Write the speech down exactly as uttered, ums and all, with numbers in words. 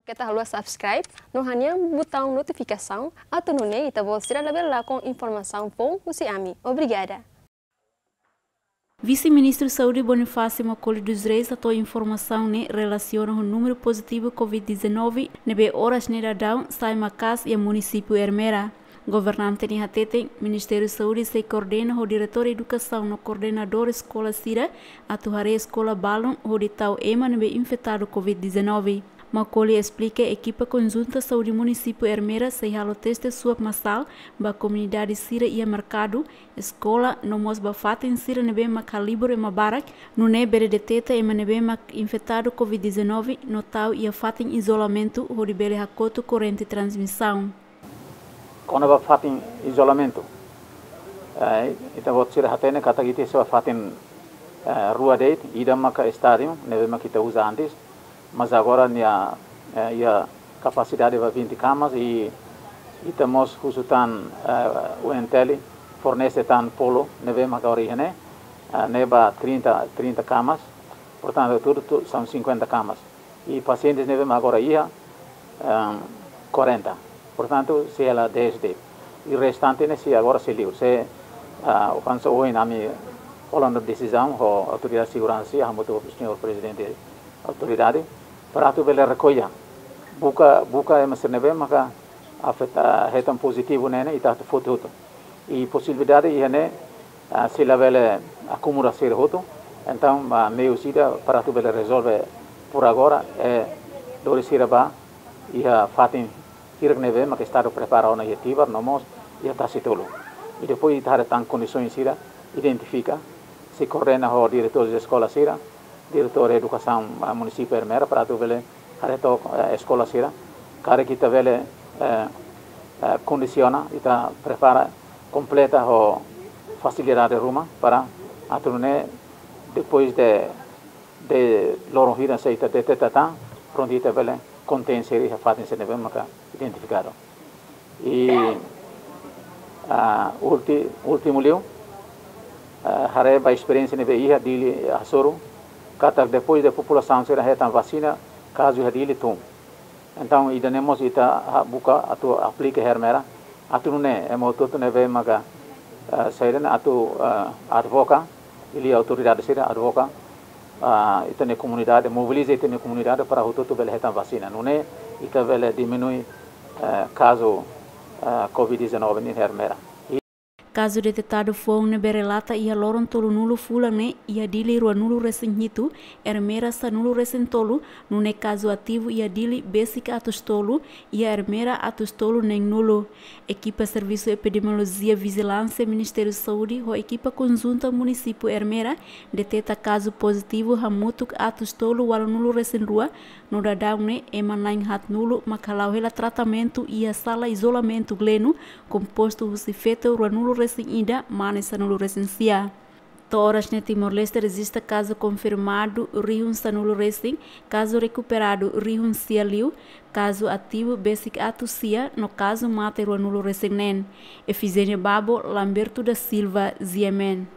Keta haluha subscribe no hanehan butaun notifikasaun, atu nune'e ita-boot sira labele lakon informasaun foun husi ami. Obrigada. Vise-Ministru Saúde Bonifácio Macaulay dos Reis hato'o informasaun ne'e relasiona ho númeru pozitivu covid dezanove ne'ebé oras ne'e daudaun sai maka'as iha munisípiu Ermera. Governante ne'e hateten, Ministériu Saúde sei koordena ho Diretór Edukasaun no koordenadór eskola sira atu haree eskola balun hodi tau ema ne'ebé infetadu covid dezanove. Macaulay esplika, ekipa konjunta saúde munisípiu Ermera sei halo teste swab masál ba komunidade sira iha merkadu, eskola, no mós ba fatin sira ne'ebé mak halibur ema barak, nune'e bele deteta ema ne'ebé mak infetadu covid dezanove no tau iha fatin izolamentu hodi bele hakotu korrente transmisaun. Kona-ba fatin izolamentu, eh, ita-boot sira hatene katak ita iha fatin, eh, rua de'it, ida maka estádiu ne'ebé mak ita uza antes, mas agora nia, eh, iha kapasidade ba vinte kamas i ita mós husu tan, eh, U N T L fornese tan polo ne'ebé mak agora iha ne'e, eh, ne'e ba trinta, trinta kamas, portantu, tudu, tudu são cinquenta kamas. I pasientes ne'ebé mak agora iha, ehm, quarenta. Portantu, sei hela dez de'it. I restante ne'e sei agora sei liur. Sei, ah, oinsá ohin ami hola ona desizaun ho autoridade seguransa, hamutuk ho señór prezidente autoridade, para atu bele rekolla. Buka, buka ema sira ne'ebé maka afeta, hetan pozitivu ne'e, ne'e ita atu foti hotu. I posibilidade iha ne'e, ah, sei labele akumula sira hotu. Entaun, ah, meius ida para atu bele rezolve por agora, eh, lori sira ba iha fatin hirak ne'ebé maka Estadu prepara ona iha Tibar, no mós iha Tasitolu. I depois ita haree tan kondisaun sira, identifika, sei koordena ho diretór eskola sira, Diretór Edukasaun, ah, munisípiu Ermera, para atu bele haree took, eh, eskola sira. Karik ita bele, eh, eh, kondisiona, ita prepara, kompleta ho fasilidade ruma para atu nune'e depois de, de loron hirak se ita deteta tan, prontu ita bele kontein sira iha fatin sira ne'ebé maka identifikadu. I, ah, ulti-, últimu liu, ah, haree ba esperiénsia ne'ebé iha Dili hasoru, katak depois de populasaun sira hetan vasina, kazu iha Dili tun. Entaun, ida-ne'e mós ita, ah, buka atu aplika iha Ermera, atu nune'e ema hotu-hotu ne'ebé maka, ah, saida ne'e atu, ah, advoga, liuliu autoridade sira advoga, ah, ita-nia komunidade, mobiliza ita-nia komunidade para hotu-hotu bele hetan vasina. Nune'e ita bele diminui, eh, kazu, eh, covid dezanove iha Ermera. Kazu detetadu foun ne'ebé relata iha loron tolunulu fulan ne'e iha Dili ruanulu-resin-hitu, Ermera sanulu-resin-tolu, nune'e kazu ativu iha Dili besik atus tolu, iha Ermera atus tolu neenulu. Ekipa Servisu Epidemiolojia Vijilánsia Ministériu Saúde ho ekipa konjunta munisípiu Ermera deteta kazu pozitivu hamutuk atus tolu ualunulu-resin-rua, no daudaun ne'e ema na'in haatnulu mak hala'o hela tratamentu iha sala izolamentu Gleno, kompostu husi feto ruanulu-resin-ida, mane sanulu-resin-sia. To'o oras ne'e Timor-Leste rejista kazu konfirmadu rihun sanulu-resin, kazu rekuperadu rihun sia liu, kazu ativu besik atus sia, no kazu mate ruanulu-resin-neen. Efigénia Babo, Lamberto da Silva, G M N.